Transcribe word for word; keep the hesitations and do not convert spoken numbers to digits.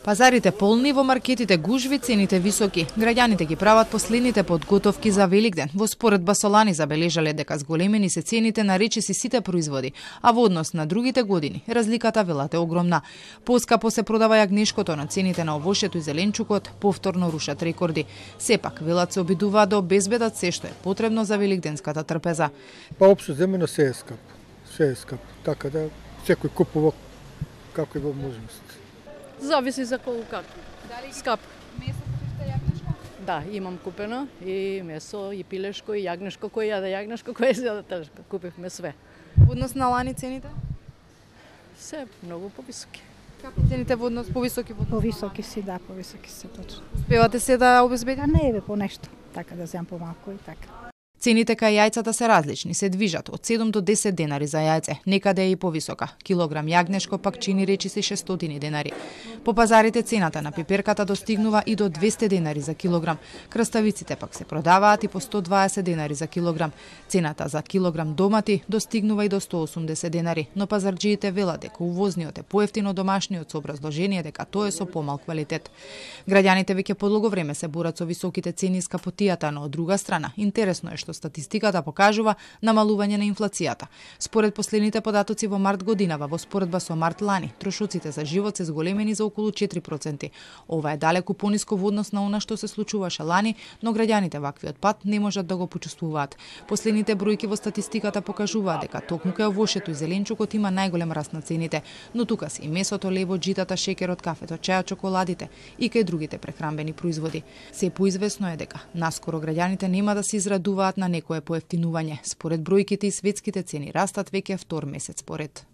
Пазарите полни, во маркетите гужви, цените високи. Граѓаните ги прават последните подготовки за Великден. Во споредба со лани забележале дека зголемени се цените на речиси сите производи, а во однос на другите години разликата велате огромна. Поскапо се продава јагнешкото, но цените на овошјето и зеленчукот повторно рушат рекорди. Сепак велат се обидуваат да обезбедат се што е потребно за великденската трпеза. Па општо земено се е скап. Се е скап. Така да секој купува како е во можност. Зависи за колку како. Дали скап. Месо купивте јагнешко? Да, имам купено и месо, и пилешко, и јагнешко, кој јаде јагнешко, кој јаде телешко. Купивме све. Во однос на лани цените? Се многу повисоки. Како цените во однос повисоки? Во однос? Повисоки си, да, повисоки си, точно. Успевате се да обезбедите? А не е по нешто, така да земам помалку и така. Цените кај јајцата се различни, се движат од седум до десет денари за јајце, некаде е и повисока. Килограм јагнешко пак чини речиси шестстотини денари. По пазарите цената на пиперката достигнува и до двесте денари за килограм. Краставиците пак се продаваат и по сто дваесет денари за килограм. Цената за килограм домати достигнува и до сто осумдесет денари, но пазарџиите велат дека увозниот е поевтин од домашниот со образложение дека тоа е со помал квалитет. Граѓаните веќе подолго време се борат со високите цени и скапотијата, но од друга страна интересно е што статистиката покажува намалување на инфлацијата. Според последните податоци во март годинава, во споредба со март лани, трошоците за живот се зголемени за околу четири проценти. Ова е далеку пониско во однос на она што се случуваше лани, но граѓаните ваквиот пат не можат да го почувствуваат. Последните бројки во статистиката покажуваат дека токму кај овошјето и зеленчукот има најголем раст на цените, но тука се и месото, лебот, житата, шеќерот, кафето, чајот, чоколадите и кај другите прехранбени производи. Се поизвестно е дека наскоро граѓаните нема да се израдуваат на некое поевтинување. Според бројките и светските цени растат веќе втор месец поред.